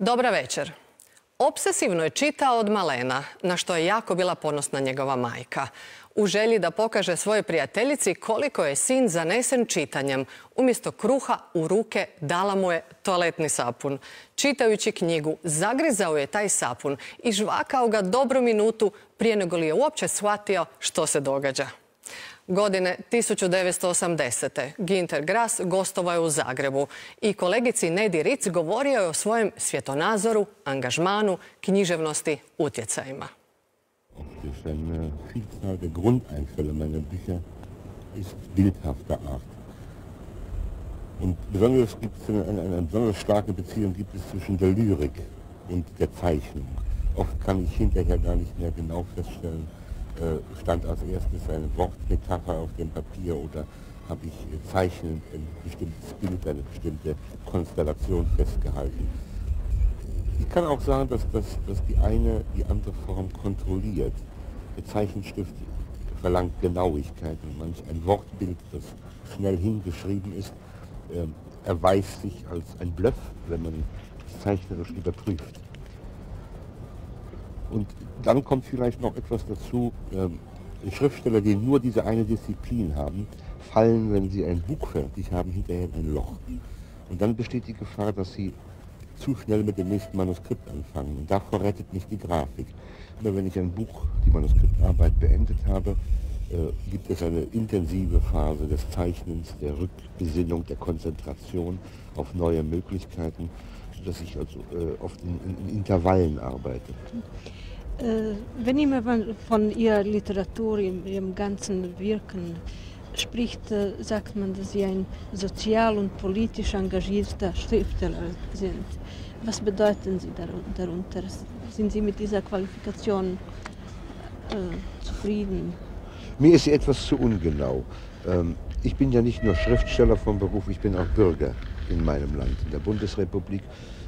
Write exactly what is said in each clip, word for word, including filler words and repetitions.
Dobra večer. Obsesivno je čitao od malena, na što je jako bila ponosna njegova majka. U želji da pokaže svojoj prijateljici koliko je sin zanesen čitanjem, umjesto kruha u ruke dala mu je toaletni sapun. Čitajući knjigu, zagrizao je taj sapun i žvakao ga dobru minutu prije nego li je uopće shvatio što se događa. Godine tisuću devetsto osamdesete. Günter Grass gostovao je u Zagrebu i kolegici Nedi Ritz govorio je o svojem svjetonazoru, angažmanu, književnosti, utjecajima. Eine Vielzahl der Grundeinfälle meiner Bücher ist bildhafter Art. Und besonders gibt es eine, eine, eine besonders starke Beziehung gibt es zwischen der Lyrik und der Zeichnung. Oft kann ich hinterher gar nicht mehr genau feststellen, äh, stand als erstes eine Wortmetapher auf dem Papier oder habe ich äh, zeichnend ein bestimmtes Bild, eine bestimmte Konstellation festgehalten. Ich kann auch sagen, dass, dass, dass die eine die andere Form kontrolliert. Der Zeichenstift verlangt Genauigkeit und manch ein Wortbild, das schnell hingeschrieben ist, äh, erweist sich als ein Bluff, wenn man es zeichnerisch überprüft. Und dann kommt vielleicht noch etwas dazu, äh, Schriftsteller, die nur diese eine Disziplin haben, fallen, wenn sie ein Buch fertig haben, hinterher in ein Loch. Und dann besteht die Gefahr, dass sie zu schnell mit dem nächsten Manuskript anfangen. Und davor rettet mich die Grafik. Aber wenn ich ein Buch, die Manuskriptarbeit beendet habe, äh, gibt es eine intensive Phase des Zeichnens, der Rückbesinnung, der Konzentration auf neue Möglichkeiten, sodass ich also äh, oft in, in, in Intervallen arbeite. Äh, wenn man von Ihrer Literatur, Ihrem ganzen Wirken spricht, äh, sagt man, dass Sie ein sozial und politisch engagierter Schriftsteller sind. Was bedeuten Sie darunter? Sind Sie mit dieser Qualifikation äh, zufrieden? Mir ist sie etwas zu ungenau. Ähm, ich bin ja nicht nur Schriftsteller vom Beruf, ich bin auch Bürger in meinem Land, in der Bundesrepublik.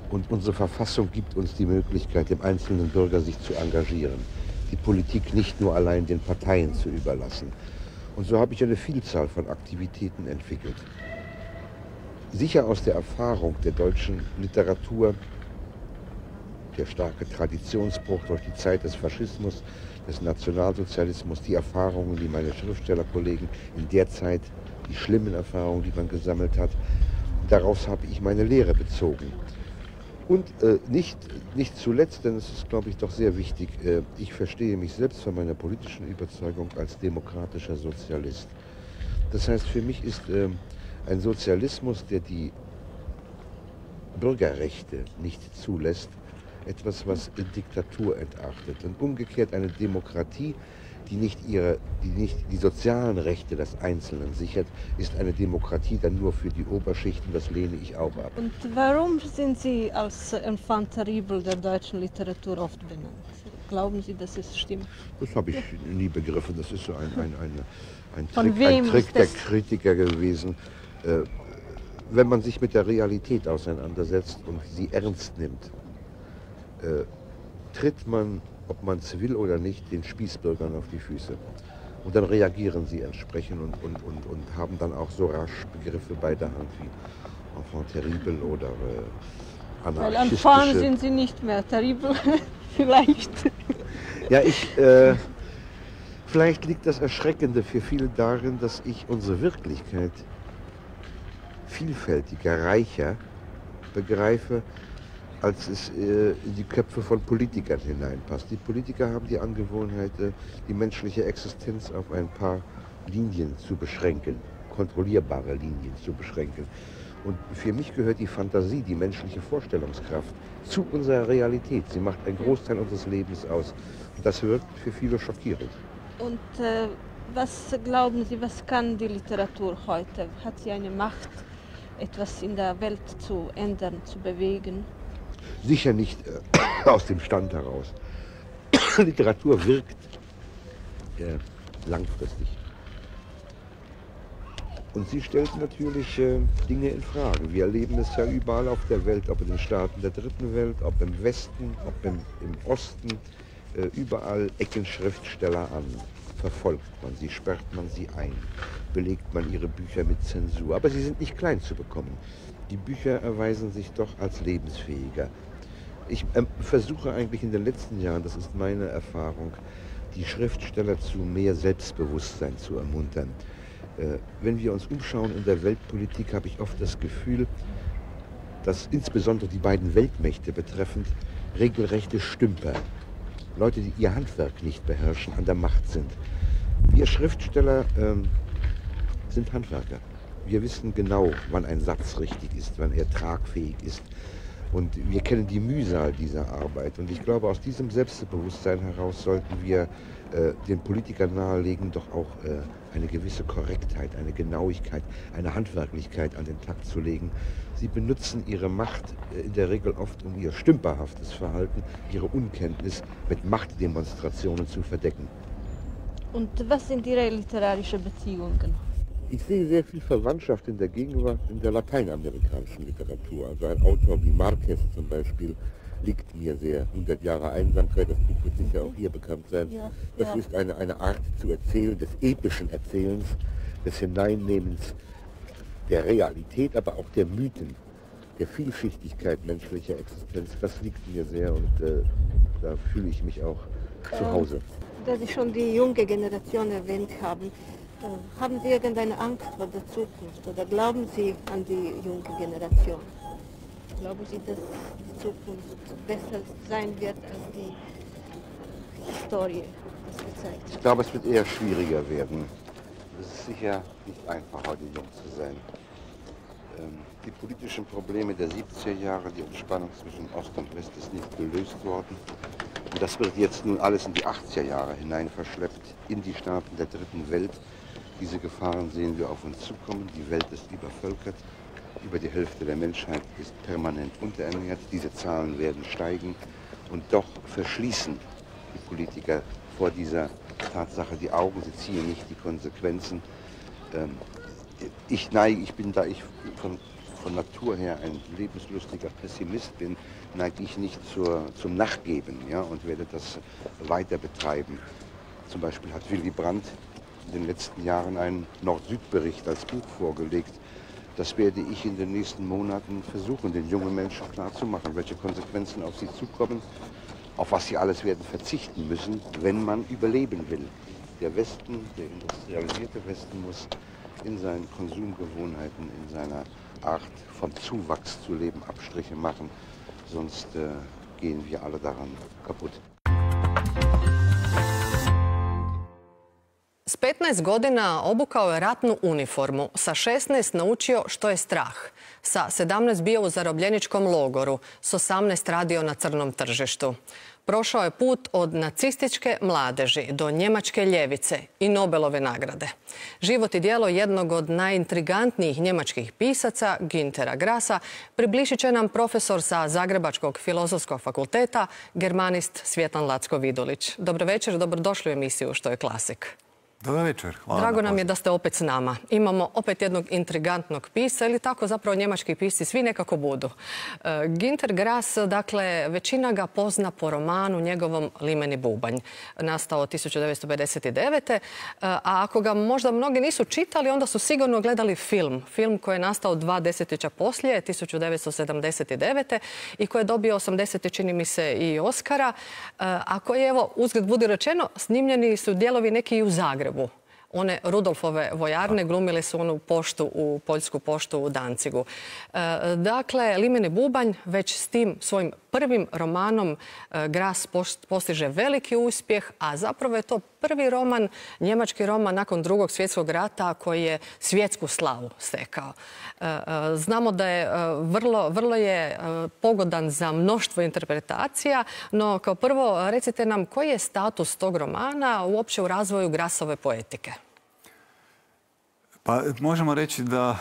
Und unsere Verfassung gibt uns die Möglichkeit, dem einzelnen Bürger sich zu engagieren. Die Politik nicht nur allein den Parteien zu überlassen. Und so habe ich eine Vielzahl von Aktivitäten entwickelt. Sicher aus der Erfahrung der deutschen Literatur, der starke Traditionsbruch durch die Zeit des Faschismus, des Nationalsozialismus, die Erfahrungen, die meine Schriftstellerkollegen in der Zeit, die schlimmen Erfahrungen, die man gesammelt hat, daraus habe ich meine Lehre bezogen. Und äh, nicht, nicht zuletzt, denn es ist, glaube ich, doch sehr wichtig, äh, ich verstehe mich selbst von meiner politischen Überzeugung als demokratischer Sozialist. Das heißt, für mich ist äh, ein Sozialismus, der die Bürgerrechte nicht zulässt, etwas, was in Diktatur entartet. Und umgekehrt eine Demokratie, die nicht, ihre, die nicht die sozialen Rechte des Einzelnen sichert, ist eine Demokratie dann nur für die Oberschichten. Das lehne ich auch ab. Und warum sind Sie als Enfant terrible der deutschen Literatur oft benannt? Glauben Sie, dass es stimmt? Das habe ich nie begriffen. Das ist so ein, ein, ein, ein Von Trick, wem ein Trick ist der das? Kritiker gewesen. Äh, wenn man sich mit der Realität auseinandersetzt und sie ernst nimmt, äh, tritt man, ob man es will oder nicht, den Spießbürgern auf die Füße. Und dann reagieren sie entsprechend und, und, und, und haben dann auch so rasch Begriffe bei der Hand wie Enfant terrible oder äh, Weil anarchistische... Enfant sind Sie nicht mehr terrible, vielleicht. Ja, ich... Äh, vielleicht liegt das Erschreckende für viele darin, dass ich unsere Wirklichkeit vielfältiger, reicher begreife, als es äh, in die Köpfe von Politikern hineinpasst. Die Politiker haben die Angewohnheit, äh, die menschliche Existenz auf ein paar Linien zu beschränken, kontrollierbare Linien zu beschränken. Und für mich gehört die Fantasie, die menschliche Vorstellungskraft zu unserer Realität. Sie macht einen Großteil unseres Lebens aus. Und das wirkt für viele schockierend. Und äh, was glauben Sie, was kann die Literatur heute? Hat sie eine Macht, etwas in der Welt zu ändern, zu bewegen? Sicher nicht äh, aus dem Stand heraus. Literatur wirkt äh, langfristig. Und sie stellt natürlich äh, Dinge in Frage. Wir erleben es ja überall auf der Welt, ob in den Staaten der dritten Welt, ob im Westen, ob im, im Osten. Äh, überall ecken Schriftsteller an. Verfolgt man sie, sperrt man sie ein, belegt man ihre Bücher mit Zensur. Aber sie sind nicht klein zu bekommen. Die Bücher erweisen sich doch als lebensfähiger. Ich ähm, versuche eigentlich in den letzten Jahren, das ist meine Erfahrung, die Schriftsteller zu mehr Selbstbewusstsein zu ermuntern. Äh, wenn wir uns umschauen in der Weltpolitik, habe ich oft das Gefühl, dass insbesondere die beiden Weltmächte betreffend regelrechte Stümper, Leute, die ihr Handwerk nicht beherrschen, an der Macht sind. Wir Schriftsteller ähm, sind Handwerker. Wir wissen genau, wann ein Satz richtig ist, wann er tragfähig ist. Und wir kennen die Mühsal dieser Arbeit. Und ich glaube, aus diesem Selbstbewusstsein heraus sollten wir äh, den Politikern nahelegen, doch auch äh, eine gewisse Korrektheit, eine Genauigkeit, eine Handwerklichkeit an den Tag zu legen. Sie benutzen ihre Macht äh, in der Regel oft, um ihr stümperhaftes Verhalten, ihre Unkenntnis mit Machtdemonstrationen zu verdecken. Und was sind Ihre literarischen Beziehungen? Ich sehe sehr viel Verwandtschaft in der Gegenwart in der lateinamerikanischen Literatur. Also ein Autor wie Marquez zum Beispiel liegt mir sehr. hundert Jahre Einsamkeit, das Buch wird sicher auch hier bekannt sein. Ja, das ja. ist eine, eine Art zu erzählen, des epischen Erzählens, des Hineinnehmens der Realität, aber auch der Mythen, der Vielschichtigkeit menschlicher Existenz. Das liegt mir sehr und äh, da fühle ich mich auch ähm, zu Hause. Da Sie schon die junge Generation erwähnt haben, haben Sie irgendeine Angst vor der Zukunft oder glauben Sie an die junge Generation? Glauben Sie, dass die Zukunft besser sein wird als die Historie das gezeigt hat? Ich glaube, es wird eher schwieriger werden. Es ist sicher nicht einfach, heute jung zu sein. Die politischen Probleme der siebziger Jahre, die Entspannung zwischen Ost und West ist nicht gelöst worden. Und das wird jetzt nun alles in die achtziger Jahre hinein verschleppt, in die Staaten der dritten Welt. Diese Gefahren sehen wir auf uns zukommen. Die Welt ist übervölkert. Über die Hälfte der Menschheit ist permanent unterernährt. Diese Zahlen werden steigen. Und doch verschließen die Politiker vor dieser Tatsache die Augen. Sie ziehen nicht die Konsequenzen. Ich neige, ich bin da ich von, von Natur her ein lebenslustiger Pessimist bin, neige ich nicht zur, zum Nachgeben, ja, und werde das weiter betreiben. Zum Beispiel hat Willy Brandt in den letzten Jahren einen Nord-Süd-Bericht als Buch vorgelegt. Das werde ich in den nächsten Monaten versuchen, den jungen Menschen klarzumachen, welche Konsequenzen auf sie zukommen, auf was sie alles werden verzichten müssen, wenn man überleben will. Der Westen, der industrialisierte Westen, muss in seinen Konsumgewohnheiten, in seiner Art von Zuwachs zu leben Abstriche machen, sonst äh, gehen wir alle daran kaputt. S petnaest godina obukao je ratnu uniformu, sa šesnaest naučio što je strah, sa sedamnaest bio u zarobljeničkom logoru, s osamnaest radio na crnom tržištu. Prošao je put od nacističke mladeži do njemačke ljevice i Nobelove nagrade. Život i djelo jednog od najintrigantnijih njemačkih pisaca, Güntera Grassa, približit će nam profesor sa Zagrebačkog filozofskog fakulteta, germanist Svjetlan Lacko-Vidulić. Dobro večer, dobrodošli u emisiju Što je klasik. Dobar večer. Hvala. Drago nam je da ste opet s nama. Imamo opet jednog intrigantnog pisca, ili tako zapravo njemački pisci svi nekako budu. Uh, Günter Grass, dakle, većina ga pozna po romanu njegovom Limeni bubanj, nastao tisuću devetsto pedeset devete. Uh, a ako ga možda mnogi nisu čitali, onda su sigurno gledali film. Film koji je nastao dva desetljeća poslije, tisuću devetsto sedamdeset devete. i koji je dobio osamdeset, čini mi se, i Oscara. Uh, a koji, evo, uzgled budi rečeno, snimljeni su dijelovi neki i u Zagrebu. One Rudolfove vojarne glumile su onu poštu, u poljsku poštu u Dancigu. E, dakle, Limeni bubanj već s tim svojim prvim romanom e, Grass postiže veliki uspjeh, a zapravo je to prvi roman, njemački roman nakon Drugog svjetskog rata koji je svjetsku slavu stekao. E, e, znamo da je e, vrlo, vrlo je e, pogodan za mnoštvo interpretacija, no kao prvo recite nam koji je status tog romana uopće u razvoju Grassove poetike? Pa možemo reći da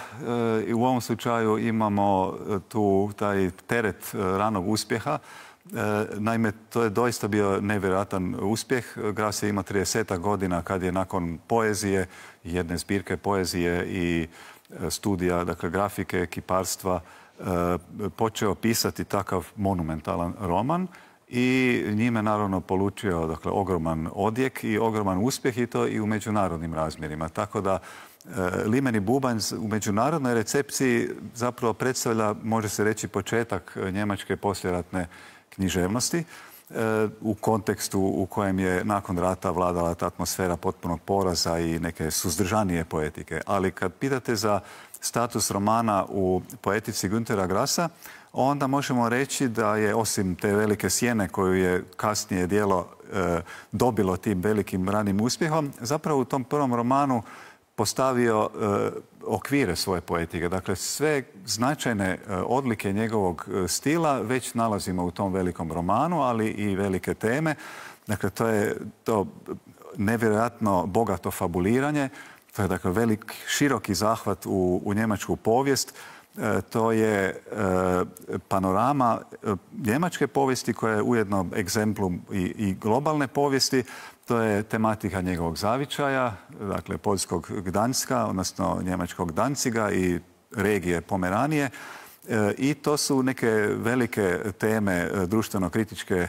e, u ovom slučaju imamo tu taj teret ranog uspjeha. E, naime, to je doista bio nevjerojatan uspjeh. Grass je ima trideset godina kad je nakon poezije, jedne zbirke poezije i studija, dakle grafike, kiparstva, e, počeo pisati takav monumentalan roman. I njime naravno polučio, dakle, ogroman odjek i ogroman uspjeh, i to i u međunarodnim razmjerima. Tako da Limeni bubanj u međunarodnoj recepciji zapravo predstavlja, može se reći, početak njemačke poslijeratne književnosti u kontekstu u kojem je nakon rata vladala ta atmosfera potpunog poraza i neke suzdržanije poetike. Ali kad pitate za status romana u poetici Güntera Grassa, onda možemo reći da je osim te velike sjene koju je kasnije djelo e, dobilo tim velikim ranim uspjehom, zapravo u tom prvom romanu postavio e, okvire svoje poetike. Dakle, sve značajne e, odlike njegovog stila već nalazimo u tom velikom romanu, ali i velike teme. Dakle, to je to nevjerojatno bogato fabuliranje. To je dakle velik, široki zahvat u, u njemačku povijest. E, to je e, panorama e, njemačke povijesti koja je ujedno egzemplum i, i globalne povijesti. To je tematika njegovog zavičaja, dakle poljskog Gdanska, odnosno njemačkog Danciga i regije Pomeranije. E, I to su neke velike teme društveno-kritičke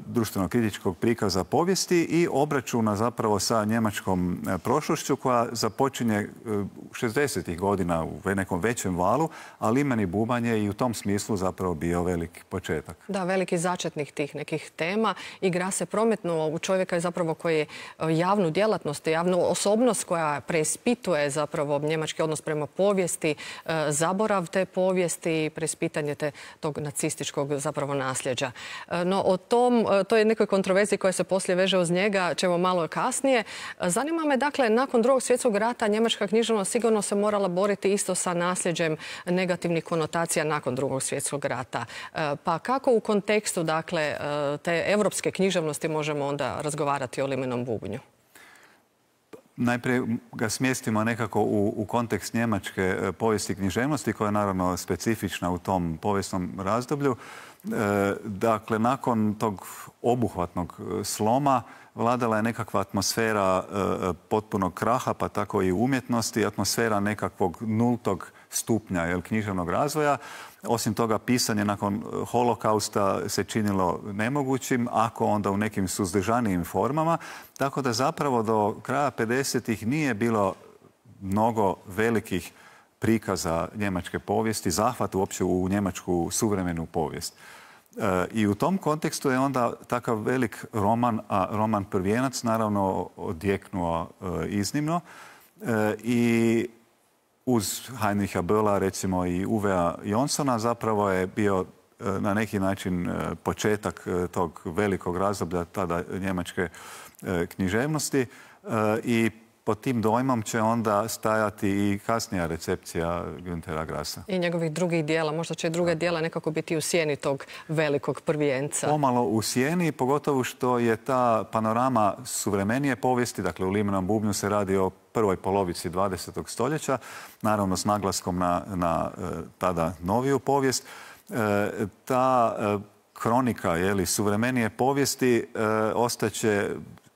društveno-kritičkog prikaza povijesti i obračuna zapravo sa njemačkom prošlošću koja započinje šezdesetih godina u nekom većem valu, ali Imeni bubanj je i u tom smislu zapravo bio veliki početak. Da, veliki začetnik tih nekih tema i Grass se prometnuo u čovjeka je zapravo koji je javnu djelatnost, javnu osobnost koja preispituje zapravo njemački odnos prema povijesti, zaborav te povijesti i preispitanje te tog nacističkog zapravo nasljeđa. No, o tom to je nekoj kontroverziji koja se poslije veže uz njega, ćemo malo kasnije. Zanima me, dakle, nakon drugog svjetskog rata njemačka književnost sigurno se morala boriti isto sa nasljeđem negativnih konotacija nakon drugog svjetskog rata. Pa kako u kontekstu, dakle, te evropske književnosti možemo onda razgovarati o limenom bubnju? Najprije ga smjestimo nekako u, u kontekst njemačke povijesti književnosti koja je naravno specifična u tom povijesnom razdoblju. E, dakle, nakon tog obuhvatnog sloma vladala je nekakva atmosfera e, potpunog kraha, pa tako i umjetnosti, atmosfera nekakvog nultog stupnja jel, književnog razvoja. Osim toga, pisanje nakon holokausta se činilo nemogućim, ako onda u nekim suzdržanijim formama. Tako da zapravo do kraja pedesetih nije bilo mnogo velikih prikaza njemačke povijesti, zahvat uopće u njemačku suvremenu povijest. E, I u tom kontekstu je onda takav velik roman, a roman Prvijenac naravno odjeknuo e, iznimno. E, I uz Heinricha Bölla, recimo i Uvea Jonsona, zapravo je bio na neki način početak tog velikog razdoblja tada njemačke književnosti i pod tim dojmom će onda stajati i kasnija recepcija Güntera Grassa. I njegovih drugih dijela. Možda će druga dijela nekako biti u sjeni tog velikog prvijenca. Pomalo u sjeni, pogotovo što je ta panorama suvremenije povijesti, dakle u Limenom bubnju se radi o prvoj polovici dvadesetog stoljeća, naravno s naglaskom na, na tada noviju povijest. E, ta e, kronika jeli, suvremenije povijesti e, ostaće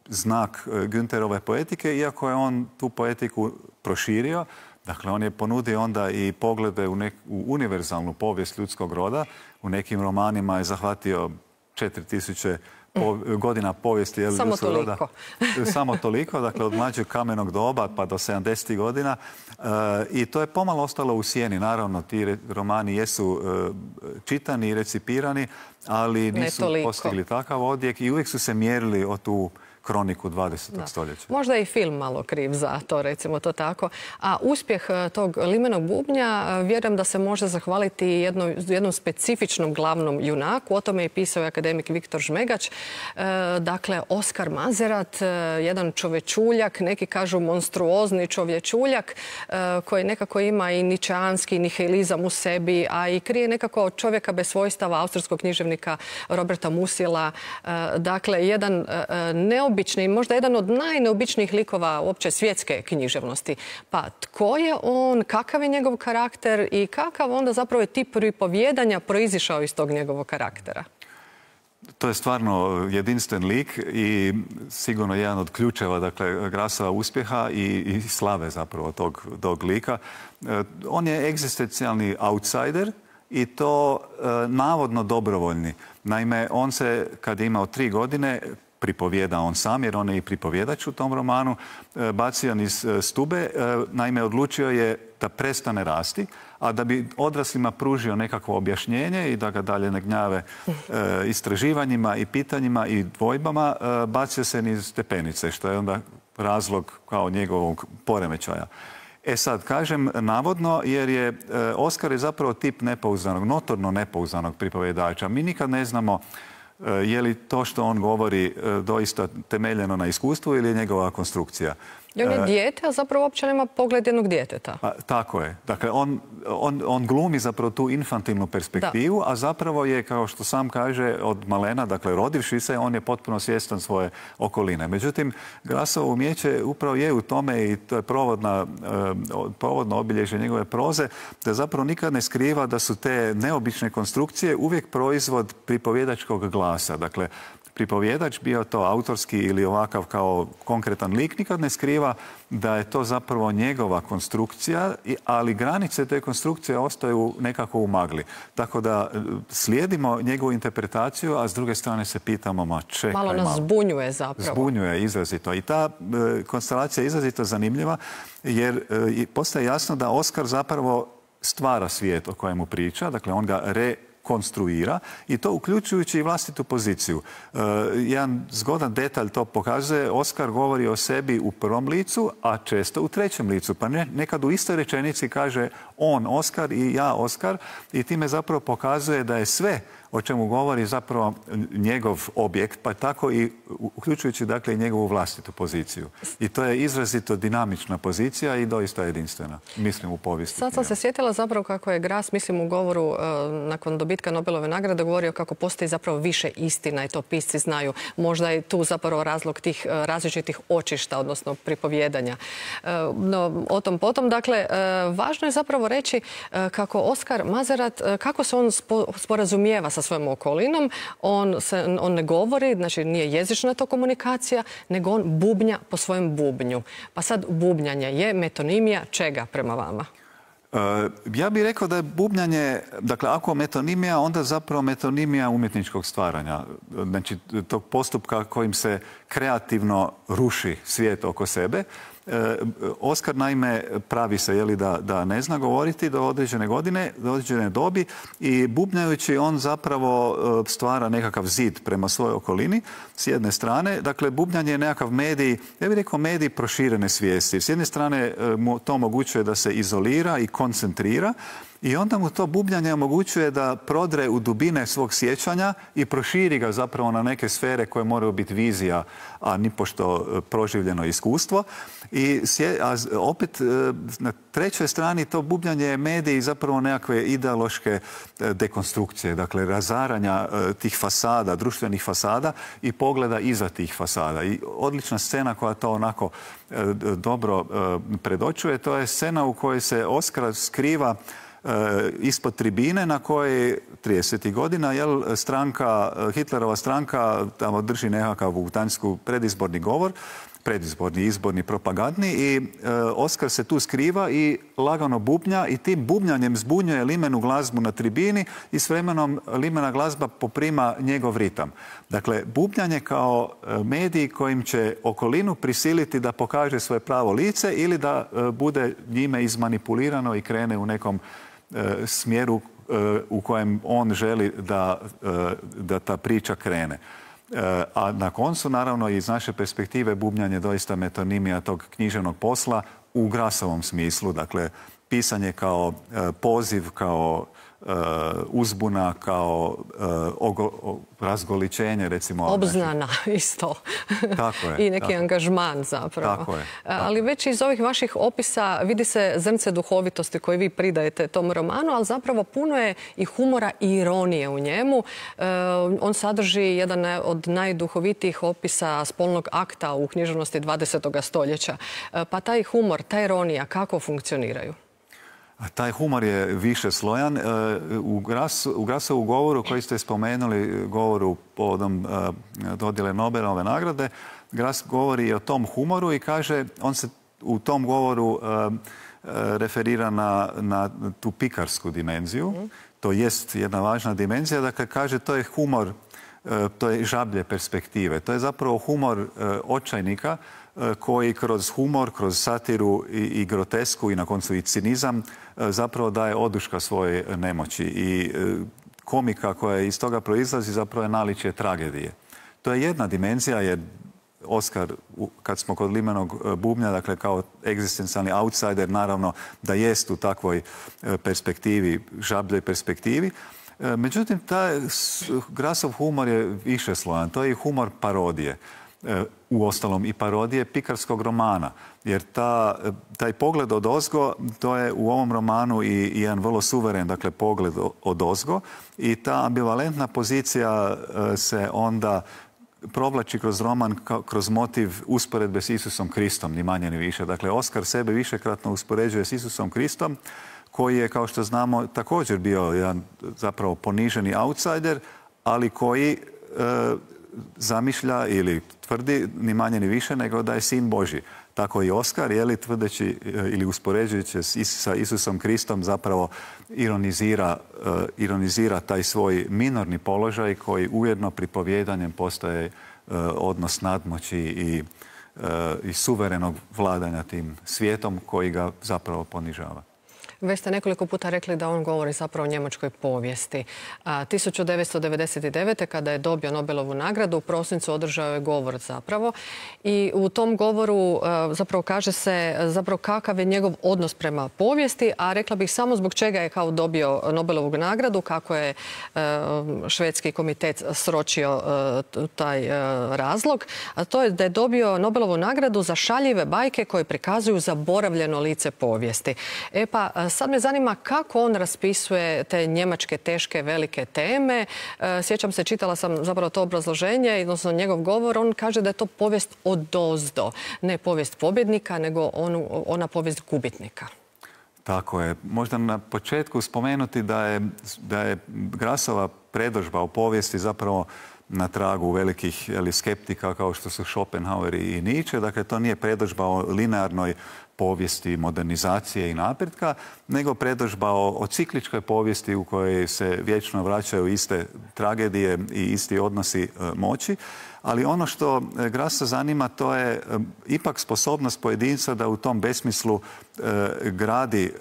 znak Günterove poetike, iako je on tu poetiku proširio. Dakle, on je ponudio onda i poglede u, nek, u univerzalnu povijest ljudskog roda. U nekim romanima je zahvatio četiri tisuće po, godina povijesti jel, Samo ljudskog toliko. roda. Samo toliko, dakle od mlađeg kamenog doba pa do sedamdesetih godina. E, I to je pomalo ostalo u sjeni. Naravno, ti romani jesu e, čitani i recipirani, ali nisu postigli takav odjek i uvijek su se mjerili o tu kroniku dvadesetog stoljeća. Možda je i film malo kriv za to, recimo to tako. A uspjeh tog Limenog bubnja vjerujem da se može zahvaliti jedno, jednom specifičnom glavnom junaku. O tome je pisao i akademik Viktor Žmegač. E, dakle, Oskar Mazerat, jedan čovječuljak, neki kažu monstruozni čovječuljak, e, koji nekako ima i ničeanski nihilizam u sebi, a i krije nekako čovjeka bez svojstava austrijskog književnika Roberta Musila. E, dakle, jedan e, neobičan Obični, možda jedan od najneobičnijih likova uopće svjetske književnosti. Pa tko je on, kakav je njegov karakter i kakav onda zapravo je tip pripovjedanja proizišao iz tog njegovog karaktera? To je stvarno jedinstven lik i sigurno jedan od ključeva, dakle, Grassova uspjeha i, i slave zapravo tog, tog lika. E, on je egzistencijalni outsider i to e, navodno dobrovoljni. Naime, on se, kad je imao tri godine, pripovijeda on sam, jer on je i pripovjedač u tom romanu, bacio niz stube. Naime, odlučio je da prestane rasti, a da bi odraslima pružio nekakvo objašnjenje i da ga dalje ne gnjave istraživanjima i pitanjima i dvojbama, bacio se niz stepenice, što je onda razlog kao njegovog poremećaja. E sad, kažem navodno, jer je Oskar je zapravo tip nepouzdanog, notorno nepouzdanog pripovjedača. Mi nikad ne znamo je li to što on govori doista temeljeno na iskustvu ili je njegova konstrukcija. I on je dijete, a zapravo uopće nema pogled jednog djeteta. Pa, tako je. Dakle, on, on, on glumi zapravo tu infantilnu perspektivu, da. A zapravo je, kao što sam kaže, od malena, dakle, rodivši se, on je potpuno svjestan svoje okoline. Međutim, Grassovo umijeće upravo je u tome, i to je provodna, provodno obilježje njegove proze, da zapravo nikad ne skriva da su te neobične konstrukcije uvijek proizvod pripovjedačkog glasa. Dakle, pripovjedač, bio to autorski ili ovakav kao konkretan lik, nikad ne skriva da je to zapravo njegova konstrukcija, ali granice te konstrukcije ostaju nekako u magli. Tako da slijedimo njegovu interpretaciju, a s druge strane se pitamo, ma čekaj malo. Malo nas zbunjuje zapravo. Zbunjuje izrazito. I ta e, konstelacija je izrazito zanimljiva, jer e, postaje jasno da Oskar zapravo stvara svijet o kojemu priča, dakle on ga re konstruira i to uključujući i vlastitu poziciju. E, jedan zgodan detalj to pokazuje. Oskar govori o sebi u prvom licu, a često u trećem licu. Pa ne, nekad u istoj rečenici kaže on Oskar i ja Oskar i time zapravo pokazuje da je sve o čemu govori zapravo njegov objekt, pa tako i uključujući dakle i njegovu vlastitu poziciju. I to je izrazito dinamična pozicija i doista jedinstvena, mislim, u povijesti. Sad sam se sjetila zapravo kako je Grass, mislim, u govoru uh, nakon dobitka Nobelove nagrade govorio kako postoji zapravo više istina i to pisci znaju. Možda je tu zapravo razlog tih uh, različitih očišta, odnosno pripovjedanja. Uh, no, o tom potom, dakle, uh, važno je zapravo reći uh, kako Oskar Mazerat, uh, kako se on spo, sporazumijeva sa svojom okolinom. On, se, on ne govori, znači nije jezična to komunikacija, nego on bubnja po svojem bubnju. Pa sad bubnjanje je metonimija čega prema vama? Uh, ja bih rekao da je bubnjanje, dakle ako metonimija, onda zapravo metonimija umjetničkog stvaranja. Znači tog postupka kojim se kreativno ruši svijet oko sebe. E, Oskar naime pravi se jeli, da, da ne zna govoriti do određene godine, do određene dobi i bubnjajući on zapravo stvara nekakav zid prema svojoj okolini s jedne strane. Dakle, bubnjanje je nekakav medij, ja bih rekao medij proširene svijesti. S jedne strane mu to omogućuje da se izolira i koncentrira, i onda mu to bubnjanje omogućuje da prodre u dubine svog sjećanja i proširi ga zapravo na neke sfere koje moraju biti vizija, a nipošto proživljeno iskustvo. I a opet na trećoj strani to bubnjanje je medij zapravo nekakve ideološke dekonstrukcije, dakle razaranja tih fasada, društvenih fasada i pogleda iza tih fasada. I odlična scena koja to onako dobro predočuje, to je scena u kojoj se Oskar skriva ispod tribine na kojoj tridesetih godina jel, stranka, Hitlerova stranka tamo drži nekakav u Gdansku predizborni govor, predizborni, izborni, propagandni i e, Oskar se tu skriva i lagano bubnja i tim bubnjanjem zbunjuje limenu glazbu na tribini i s vremenom limena glazba poprima njegov ritam. Dakle, bubnjanje kao medij kojim će okolinu prisiliti da pokaže svoje pravo lice ili da e, bude njime izmanipulirano i krene u nekom e, smjeru e, u kojem on želi da, e, da ta priča krene. A na koncu, naravno, iz naše perspektive bubnjanje doista metonimija tog književnog posla u Grassovom smislu. Dakle, pisanje kao poziv, kao uzbuna, kao razgoličenje, recimo. Obznana, isto. Tako je. I neki tako. Angažman zapravo. Tako je. Tako. Ali već iz ovih vaših opisa vidi se zrnce duhovitosti koje vi pridajete tom romanu, ali zapravo puno je i humora i ironije u njemu. On sadrži jedan od najduhovitijih opisa spolnog akta u književnosti dvadesetog stoljeća. Pa taj humor, ta ironija, kako funkcioniraju? Taj humor je više slojan. U, Gras, u Grassovu govoru koji ste spomenuli, govoru povodom dodjele Nobelove nagrade, Grass govori i o tom humoru i kaže, on se u tom govoru referira na, na tu pikarsku dimenziju. Mm. To jest jedna važna dimenzija. Dakle, kaže, to je humor to je žablje perspektive. To je zapravo humor očajnika koji kroz humor, kroz satiru i grotesku i na koncu i cinizam zapravo daje oduška svoje nemoći. I komika koja iz toga proizlazi zapravo je naličje tragedije. To je jedna dimenzija, jer Oskar, kad smo kod Limenog bubnja, dakle kao egzistencijalni outsider, naravno da jest u takvoj perspektivi, žabljoj perspektivi. Međutim, taj Grassov humor je višeslojan. To je i humor parodije. U ostalom i parodije pikarskog romana. Jer ta, taj pogled od ozgo, to je u ovom romanu i, i jedan vrlo suveren, dakle, pogled od ozgo. I ta ambivalentna pozicija se onda provlači kroz roman, kroz motiv usporedbe s Isusom Kristom, ni manje ni više. Dakle, Oskar sebe višekratno uspoređuje s Isusom Kristom, koji je, kao što znamo, također bio jedan zapravo poniženi outsider, ali koji e, zamišlja ili tvrdi ni manje ni više nego da je sin Božji. Tako i Oskar, je li, tvrdeći ili uspoređujući sa Isusom Kristom, zapravo ironizira, uh, ironizira taj svoj minorni položaj koji ujedno pripovjedanjem postaje uh, odnos nadmoći i, uh, i suverenog vladanja tim svijetom koji ga zapravo ponižava. Već ste nekoliko puta rekli da on govori zapravo o njemačkoj povijesti. tisuću devetsto devedeset devete. kada je dobio Nobelovu nagradu, u prosincu održao je govor zapravo. I u tom govoru zapravo kaže se zapravo kakav je njegov odnos prema povijesti, a rekla bih samo zbog čega je kao dobio Nobelovu nagradu, kako je švedski komitet sročio taj razlog. A to je da je dobio Nobelovu nagradu za šaljive bajke koje prikazuju zaboravljeno lice povijesti. E pa, sad me zanima kako on raspisuje te njemačke teške velike teme. Sjećam se, čitala sam zapravo to obrazloženje, odnosno njegov govor. On kaže da je to povijest odozdo. Ne povijest pobjednika, nego onu, ona povijest gubitnika. Tako je. Možda na početku spomenuti da je, da je Grassova predodžba o povijesti zapravo na tragu velikih ali, skeptika kao što su Schopenhauer i Nietzsche. Dakle, to nije predodžba o linearnoj povijesti modernizacije i napretka, nego predodžba o, o cikličkoj povijesti u kojoj se vječno vraćaju iste tragedije i isti odnosi e, moći. Ali ono što Grassa zanima, to je e, ipak sposobnost pojedinca da u tom besmislu e, gradi e,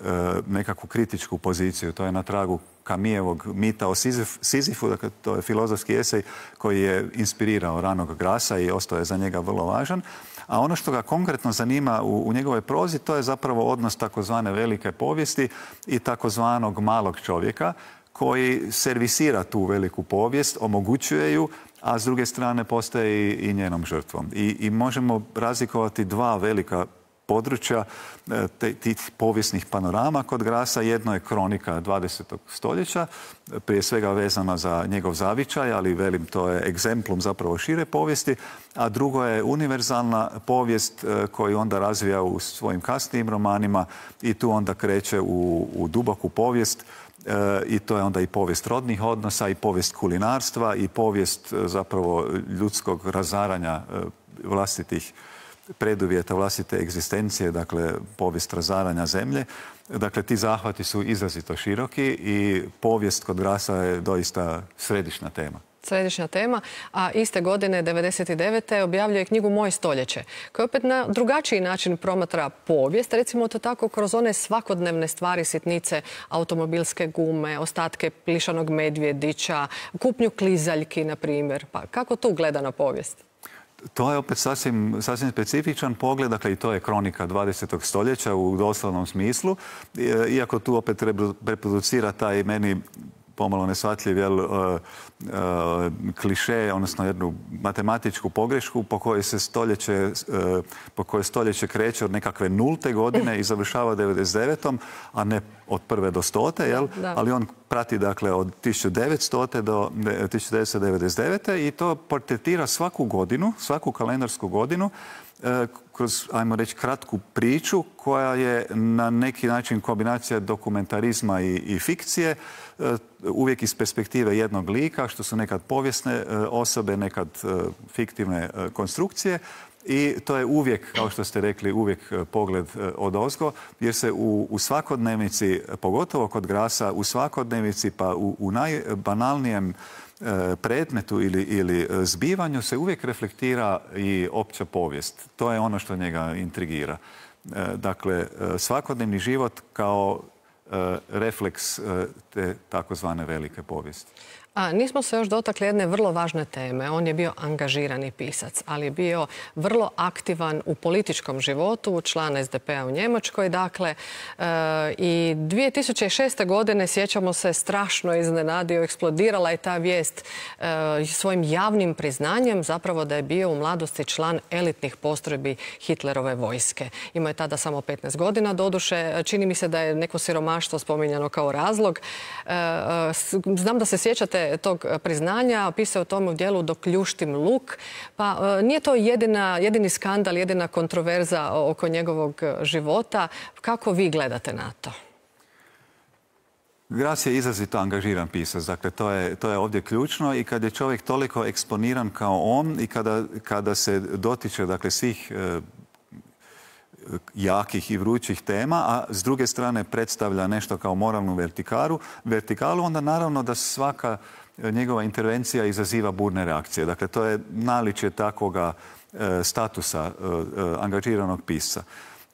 nekakvu kritičku poziciju. To je na tragu Camusovog mita o Sizif, Sizifu, dakle to je filozofski esej koji je inspirirao ranog Grassa i ostao je za njega vrlo važan. A ono što ga konkretno zanima u, u njegovoj prozi, to je zapravo odnos takozvane velike povijesti i takozvanog malog čovjeka koji servisira tu veliku povijest, omogućuje ju, a s druge strane postaje i, i njenom žrtvom. I, i možemo razlikovati dva velika područja te, tih povijesnih panorama kod Grassa. Jedno je kronika dvadesetog stoljeća, prije svega vezana za njegov zavičaj, ali velim to je egzemplum zapravo šire povijesti, a drugo je univerzalna povijest koju onda razvija u svojim kasnijim romanima i tu onda kreće u, u duboku povijest. E, i to je onda i povijest rodnih odnosa i povijest kulinarstva i povijest zapravo ljudskog razaranja vlastitih preduvjeta vlastite egzistencije, dakle povijest razaranja zemlje. Dakle, ti zahvati su izrazito široki i povijest kod Grassa je doista središnja tema. Središnja tema, a iste godine devedeset devete. objavljuje knjigu Moje stoljeće, koja opet na drugačiji način promatra povijest, recimo to tako kroz one svakodnevne stvari, sitnice, automobilske gume, ostatke plišanog medvjedića, kupnju klizaljki, na primjer. Pa kako tu gleda na povijest? To je opet sasvim, sasvim specifičan pogled, dakle i to je kronika dvadesetog stoljeća u doslovnom smislu, iako tu opet reproducira taj meni pomalo neshvatljiv jel, uh, uh, kliše, odnosno jednu matematičku pogrešku po kojoj se stoljeće, uh, po kojoj stoljeće kreće od nekakve nulte godine i završava devedeset devetom. a ne od prve do stote, jel? Da. Ali on prati dakle od tisuću devetstote do tisuću devetsto devedeset devete. i to portretira svaku godinu, svaku kalendarsku godinu kroz, ajmo reći, kratku priču koja je na neki način kombinacija dokumentarizma i, i fikcije, uvijek iz perspektive jednog lika, što su nekad povijesne osobe, nekad fiktivne konstrukcije. I to je uvijek, kao što ste rekli, uvijek pogled odozgo, jer se u, u svakodnevnici, pogotovo kod Grasa, u svakodnevnici pa u, u najbanalnijem predmetu ili, ili zbivanju se uvijek reflektira i opća povijest. To je ono što njega intrigira. Dakle, svakodnevni život kao refleks te takozvane velike povijesti. A, nismo se još dotakli jedne vrlo važne teme. On je bio angažirani pisac, ali je bio vrlo aktivan u političkom životu, član es de pe a u Njemačkoj. Dakle, e, i dvije tisuće šeste. godine, sjećamo se, strašno iznenadio, eksplodirala je ta vijest e, svojim javnim priznanjem zapravo da je bio u mladosti član elitnih postrojbi Hitlerove vojske. Imao je tada samo petnaest godina, doduše. Čini mi se da je neko siromaštvo spominjano kao razlog. E, znam da se sjećate tog priznanja, pisao o tome u dijelu Dok ljuštim luk. Pa e, nije to jedina, jedini skandal, jedina kontroverza oko njegovog života. Kako vi gledate na to? Gras je izrazito angažiran pisac, dakle to je, to je ovdje ključno i kad je čovjek toliko eksponiran kao on i kada, kada se dotiče dakle, svih e, jakih i vrućih tema, a s druge strane predstavlja nešto kao moralnu vertikalu, vertikalu onda naravno da svaka njegova intervencija izaziva burne reakcije. Dakle, to je naličje takvoga e, statusa e, angažiranog pisca.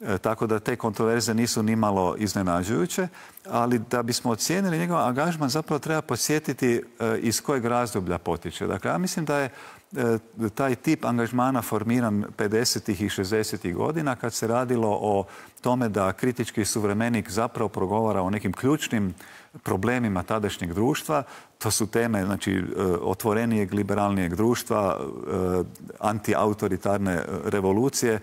E, tako da te kontroverze nisu nimalo iznenađujuće, ali da bismo ocijenili njegov angažman zapravo treba podsjetiti e, iz kojeg razdoblja potiče. Dakle, ja mislim da je e, taj tip angažmana formiran pedesetih i šezdesetih godina kad se radilo o tome da kritički suvremenik zapravo progovara o nekim ključnim problemima tadašnjeg društva. To su teme, znači, otvorenijeg, liberalnijeg društva, antiautoritarne revolucije,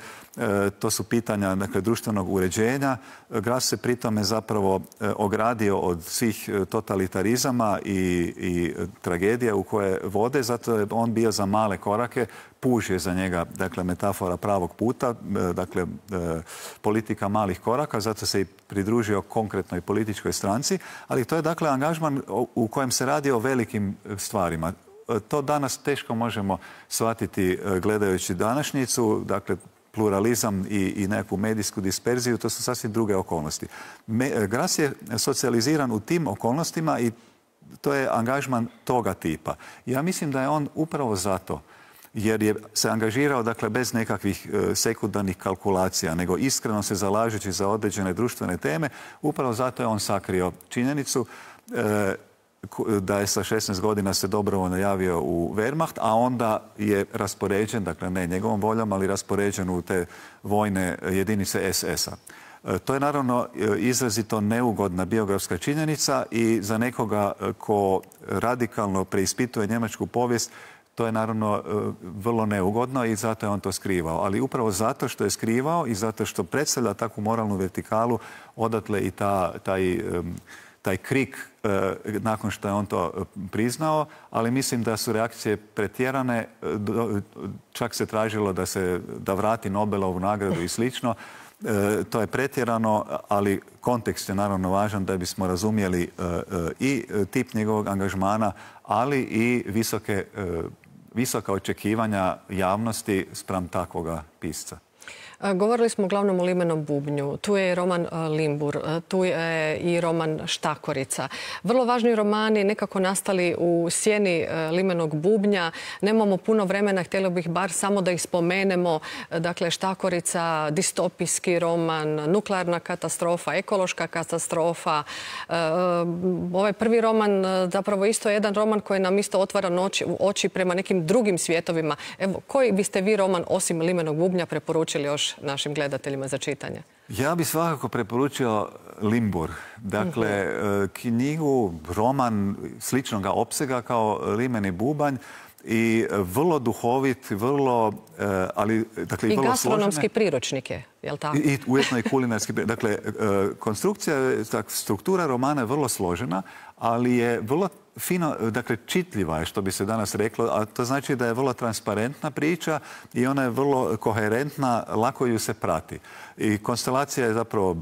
to su pitanja, dakle, društvenog uređenja. Gras se pritome zapravo ogradio od svih totalitarizama i, i tragedija u koje vode, zato je on bio za male korake, puž je za njega, dakle, metafora pravog puta, dakle, politika malih koraka, zato se i pridružio konkretnoj političkoj stranci, ali to je, dakle, angažman u kojem se radi o velikim stvarima. To danas teško možemo shvatiti gledajući današnjicu, dakle, pluralizam i, i neku medijsku disperziju, to su sasvim druge okolnosti. Me, Gras je socijaliziran u tim okolnostima i to je angažman toga tipa. Ja mislim da je on upravo zato, jer je se angažirao, dakle, bez nekakvih e, sekundarnih kalkulacija, nego iskreno se zalažući za određene društvene teme, upravo zato je on sakrio činjenicu e, da je sa šesnaest godina se dobrovoljno javio u Wehrmacht, a onda je raspoređen, dakle ne njegovom voljom, ali raspoređen u te vojne jedinice es es a. To je naravno izrazito neugodna biografska činjenica i za nekoga ko radikalno preispituje njemačku povijest, to je naravno vrlo neugodno i zato je on to skrivao. Ali upravo zato što je skrivao i zato što predstavlja takvu moralnu vertikalu, odatle i ta, taj... taj krik e, nakon što je on to priznao, ali mislim da su reakcije pretjerane, čak se tražilo da se da vrati Nobelovu nagradu i slično. E, to je pretjerano, ali kontekst je naravno važan da bismo razumjeli e, e, i tip njegovog angažmana, ali i visoke, e, visoka očekivanja javnosti spram takvoga pisca. Govorili smo uglavnom o limenom bubnju. Tu je i roman Limbur, tu je i roman Štakorica. Vrlo važni romani nekako nastali u sjeni limenog bubnja. Nemamo puno vremena, htjela bih bar samo da ih spomenemo. Dakle, Štakorica, distopijski roman, nuklearna katastrofa, ekološka katastrofa. Ovaj prvi roman zapravo isto je jedan roman koji nam isto otvara oči prema nekim drugim svjetovima. Evo, koji biste vi roman osim limenog bubnja preporučili još našim gledateljima za čitanje? Ja bih svakako preporučio Limbur. Dakle, uh-huh. knjigu, roman sličnog opsega kao Limeni bubanj i vrlo duhovit, vrlo, ali, dakle, i vrlo gastronomski složene. Priručnik je, je li tako? I ujedno i kulinarski priručnik. Dakle, konstrukcija, struktura romana je vrlo složena, ali je vrlo fino, dakle, čitljiva je, što bi se danas reklo, a to znači da je vrlo transparentna priča i ona je vrlo koherentna, lako ju se prati. I konstelacija je zapravo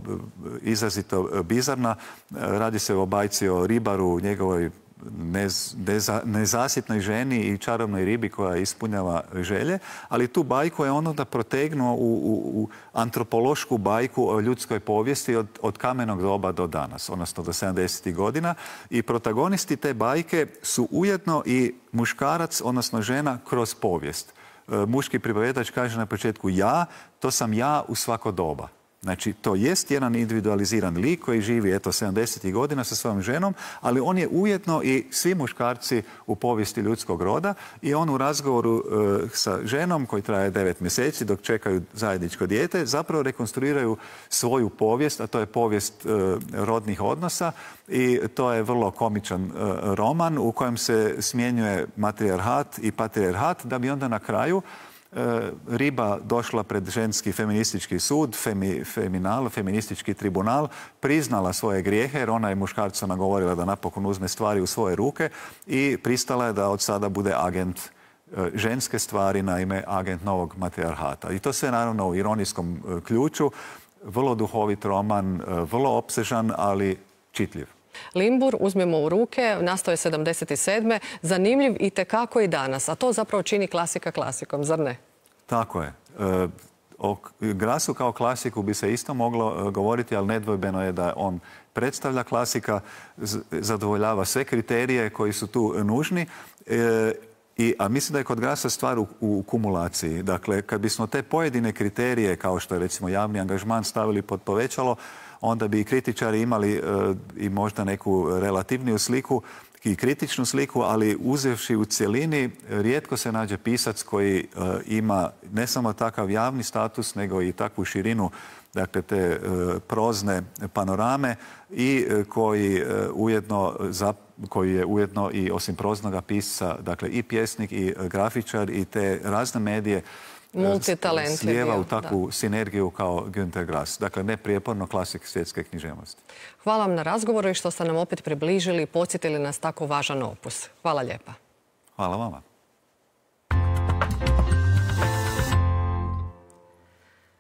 izrazito bizarna. Radi se o bajci o ribaru, njegovoj nez, neza, nezasitnoj ženi i čarobnoj ribi koja ispunjava želje, ali tu bajku je ono da protegnuo u, u, u antropološku bajku o ljudskoj povijesti od, od kamenog doba do danas, odnosno do sedamdesetih godina. I protagonisti te bajke su ujedno i muškarac, odnosno žena, kroz povijest. Muški pripovjedač kaže na početku ja, to sam ja u svako doba. Znači, to jest jedan individualiziran lik koji živi, eto, sedamdesetih godina sa svojom ženom, ali on je ujedno i svi muškarci u povijesti ljudskog roda i on u razgovoru e, sa ženom koji traje devet mjeseci dok čekaju zajedničko dijete, zapravo rekonstruiraju svoju povijest, a to je povijest e, rodnih odnosa i to je vrlo komičan e, roman u kojem se smjenjuje matrijarhat i patrijarhat da bi onda na kraju riba došla pred ženski feministički sud, femi, feminal, feministički tribunal, priznala svoje grijehe jer ona je muškarcu nagovorila da napokon uzme stvari u svoje ruke i pristala je da od sada bude agent ženske stvari, naime agent novog matrijarhata. I to sve naravno u ironijskom ključu, vrlo duhovit roman, vrlo opsežan, ali čitljiv. Limbur, uzmemo u ruke, nastao je sedamdeset sedme zanimljiv i tekako i danas, a to zapravo čini klasika klasikom, zar ne? Tako je. E, o Grassu kao klasiku bi se isto moglo govoriti, ali nedvojbeno je da on predstavlja klasika, zadovoljava sve kriterije koji su tu nužni. E, I, a mislim da je kod Grassa stvar u, u kumulaciji. Dakle, kad bismo te pojedine kriterije, kao što je recimo javni angažman, stavili pod povećalo, onda bi i kritičari imali e, i možda neku relativniju sliku i kritičnu sliku, ali uzevši u cjelini, rijetko se nađe pisac koji e, ima ne samo takav javni status, nego i takvu širinu, dakle te e, prozne panorame i e, koji, e, ujedno, za, koji je ujedno i osim proznoga pisca, dakle i pjesnik i grafičar i te razne medije multitalent slijeva u takvu da. sinergiju kao Günter Grass. Dakle, neprijeporno klasik svjetske književnosti. Hvala vam na razgovoru i što ste nam opet približili i podsjetili nas tako važan opus. Hvala lijepa. Hvala vama.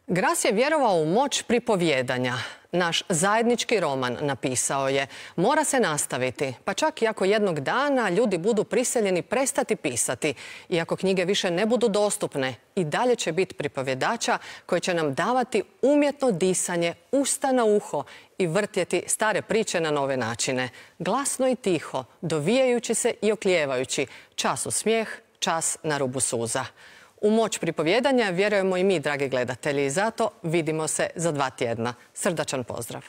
Grass je vjerovao u moć pripovjedanja. Naš zajednički roman, napisao je, mora se nastaviti, pa čak i ako jednog dana ljudi budu prisiljeni prestati pisati i ako knjige više ne budu dostupne, i dalje će biti pripovjedača koji će nam davati umjetno disanje, usta na uho i vrtjeti stare priče na nove načine. Glasno i tiho, dovijajući se i oklijevajući, čas u smijeh, čas na rubu suza. U moć pripovjedanja vjerujemo i mi, dragi gledatelji, i zato vidimo se za dva tjedna. Srdačan pozdrav!